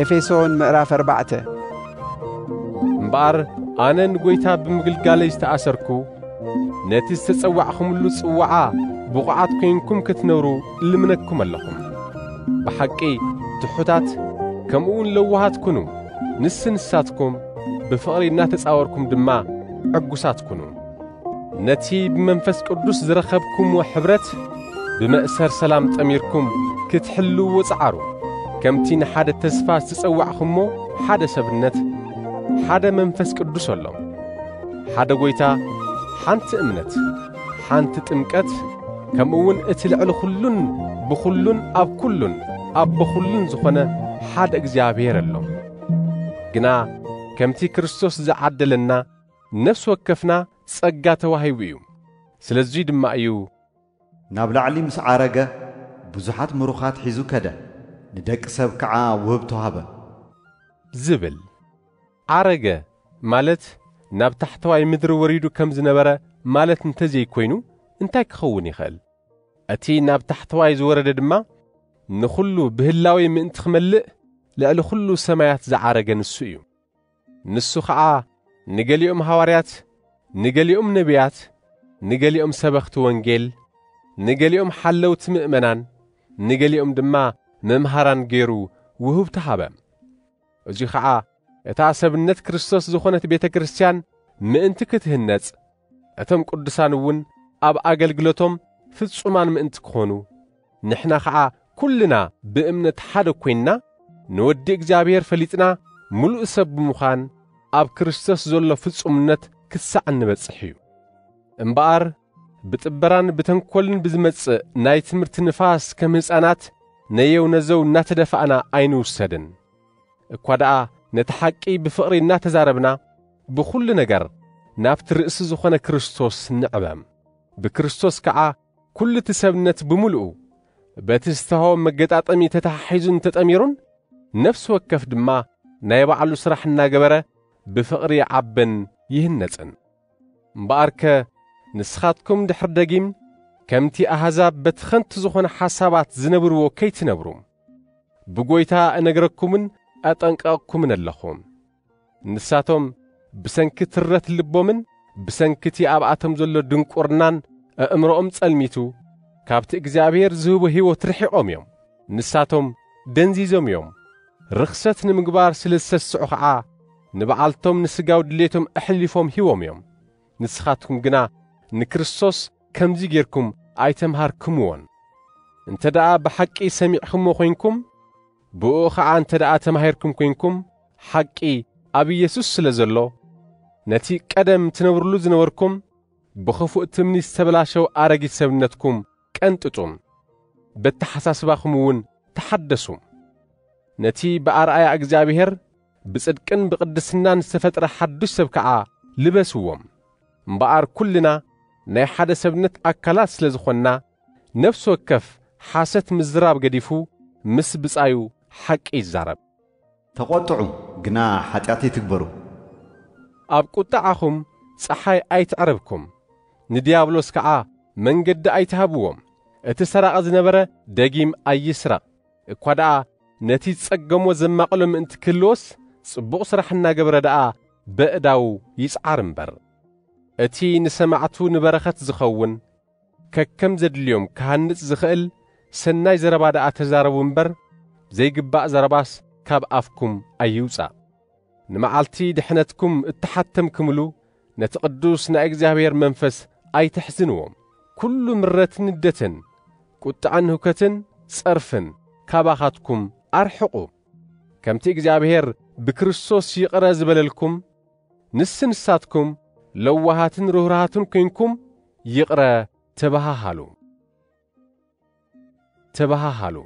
ኤፌሶን ምዕራፍ ኣርባዕተ። እምበኣር ኣነ ንጐይታ ብምግልጋለይ ዝተኣሰርኩ፣ ነቲ ዝተጸዋዕኹምሉ ጽዋዓ ብቑዓት ኴንኩም ክትነብሩ እልምነኩም ኣለኹም። ብሓቂ ትሑታት፣ ከምኡ እውን ለዋሃት ኩኑ፣ ንስ ንሳትኩም ብፍቕሪ እናተጻወርኩም ድማ ዕጉሳት ኩኑ። ነቲ ብመንፈስ ቅዱስ ዝረኸብኩምዎ ሕብረት ብመእሰር ሰላም ጠሚርኩም ክትሕልውዎ ጸዓሩ። ከምቲ ንሓደ ተስፋ ዝተጸዋዕኹሞ ሓደ ሰብነት፣ ሓደ መንፈስ ቅዱስ ኣሎ። ሓደ ጐይታ፣ ሓንቲ እምነት፣ ሓንቲ ጥምቀት፣ ከምኡ እውን እቲ ልዕሊ ኩሉን ብኹሉን ኣብ ኩሉን ኣብ ብኹሉን ዝኾነ ሓደ እግዚኣብሔር ኣሎ። ግና ከምቲ ክርስቶስ ዝዓደለና ነፍሲ ወከፍና ጸጋ ተዋሂቡ እዩ። ስለዚ ድማ እዩ ናብ ላዕሊ ምስ ዓረገ ብዙሓት ምሩኻት ሒዙ ከደ፣ ንደቂ ሰብ ከዓ ውህብቶ ሃበ። ዝብል። ዓረገ ማለት ናብ ታሕተዋይ ምድሪ ወሪዱ ከም ዝነበረ ማለት እንተዘይኮይኑ እንታይ ክኸውን ይኽእል? እቲ ናብ ታሕተዋይ ዝወረደ ድማ ንኹሉ ብህላዌ ምእንቲ ክመልእ ልዕሊ ኩሉ ሰማያት ዝዓረገ ንሱ እዩ። ንሱ ኸዓ ንገሊኦም ሃዋርያት፣ ንገሊኦም ነቢያት፣ ንገሊኦም ሰበኽቲ ወንጌል፣ ንገሊኦም ሓለውቲ ምእመናን፣ ንገሊኦም ድማ መምሃራን ገይሩ ውህብቲ ሃበ። እዙይ ኸዓ እታ ሰብነት ክርስቶስ ዝኾነት ቤተ ክርስቲያን ምእንቲ ክትህነጽ፣ እቶም ቅዱሳን እውን ኣብ ኣገልግሎቶም ፍጹማን ምእንቲ ክኾኑ፣ ንሕና ኸዓ ኩልና ብእምነት ሓደ ኰይንና፣ ንወዲ እግዚኣብሔር ፈሊጥና፣ ምሉእ ሰብ ብምዃን ኣብ ክርስቶስ ዘሎ ፍጹምነት ክሳዕ እንበጽሕ እዩ። እምበኣር ብጥበራን ብተንኮልን ብዝመጽእ ናይ ትምህርቲ ንፋስ ከም ህፃናት ነየው ነዘው እናተደፋእና ኣይንውሰድን። እኳ ደኣ ነቲ ሓቂ ብፍቕሪ እናተዛረብና፣ ብኹሉ ነገር ናብቲ ርእሲ ዝኾነ ክርስቶስ ንዕበ። ብክርስቶስ ከዓ ኩሉ እቲ ሰብነት ብምሉኡ በቲ ዝተሃወ መገጣጠሚ ተተሓሒዙን ተጠሚሩን፣ ነፍሲ ወከፍ ድማ ናይ ባዕሉ ስራሕ እናገበረ ብፍቕሪ ይዓብን ይህነጽን። እምበኣርከ ንስኻትኩም ድሕሪ ደጊም ከምቲ ኣህዛብ በቲ ኸንቱ ዝኾነ ሓሳባት ዝነብርዎ ከይትነብሩ፣ ብጐይታ እነግረኩምን ኣጠንቀቕኩምን ኣለኹ። ንሳቶም ብሰንኪ ትረት ልቦምን ብሰንኪ እቲ ኣብኣቶም ዘሎ ድንቁርናን ኣእምሮኦም ጸልሚቱ፣ ካብቲ እግዚኣብሔር ዝህቦ ህይወት ርሒቖም እዮም። ንሳቶም ደንዚዞም እዮም። ርኽሰት ንምግባር ስለ ዝሰስዑ ኸዓ፣ ንበዓልቶም ንስጋዊ ድሌቶም ኣሕሊፎም ሂቦም እዮም። ንስኻትኩም ግና ንክርስቶስ ከምዚ ጌርኩም ኣይተምሃርክምዎን። እንተ ደኣ ብሓቂ ሰሚዕክሞ ኾይንኩም፣ ብእኡ ኸዓ እንተ ደኣ ተማሂርኩም ኰይንኩም፣ ሓቂ ኣብ ኢየሱስ ስለ ዘሎ፣ ነቲ ቀደም ትነብሩሉ ዝነበርኩም ብኽፉእ ትምኒት ዝተበላሸወ ኣረጊት ሰብነትኩም ቀንጥጡ፣ በተሓሳስባኹም እውን ተሓደሱ። ነቲ ብኣርኣያ እግዚኣብሔር ብጽድቅን ብቕድስናን ዝተፈጥረ ሓዱሽ ሰብ ከኣ ልበስዎም። እምበኣር ኩልና ናይ ሓደ ሰብነት ኣካላት ስለ ዝኾንና፣ ነፍሲ ወከፍ ሓሰት ምዝራብ ገዲፉ ምስ ብጻዩ ሓቂ ይዛረብ። ተቖጥዑ፣ ግና ሓጢኣት ኣይትግበሩ። ኣብ ቁጥዓኹም ጸሓይ ኣይትዕረብኩም፣ ንድያብሎስ ከኣ መንገዲ ኣይትሃብዎም። እቲ ሰራቒ ዝነበረ ደጊም ኣይስረቕ፣ እኳ ደኣ ነቲ ዝጸገሞ ዘማቕሎ ምእንቲ ክህልዎስ፣ ጽቡቕ ስራሕ እናገበረ ደኣ በእዳዉ ይጽዓር እምበር። እቲ ንሰማዕቱ ንበረኸት ዝኸውን፣ ከከም ዘድልዮም ክሃንጽ ዝኽእል ሰናይ ዘረባ ደኣ ተዛረቡ እምበር፣ ዘይግባእ ዘረባስ ካብ ኣፍኩም ኣይውጻእ። ንመዓልቲ ድሕነትኩም እተሓተምክምሉ ነቲ ቅዱስ ናይ እግዚኣብሔር መንፈስ ኣይተሕዝንዎ። ኩሉ ምረትን ንደትን፣ ቁጥዐን ህውከትን ጸርፍን ካባኻትኩም ኣርሕቑ። ከምቲ እግዚኣብሔር ብክርስቶስ ይቕረ ዝበለልኩም፣ ንስ ንሳትኩም ለዋሃትን ርህሩሃትን ኴንኩም ይቕረ ተበሃሃሉ። ተበሃሃሉ።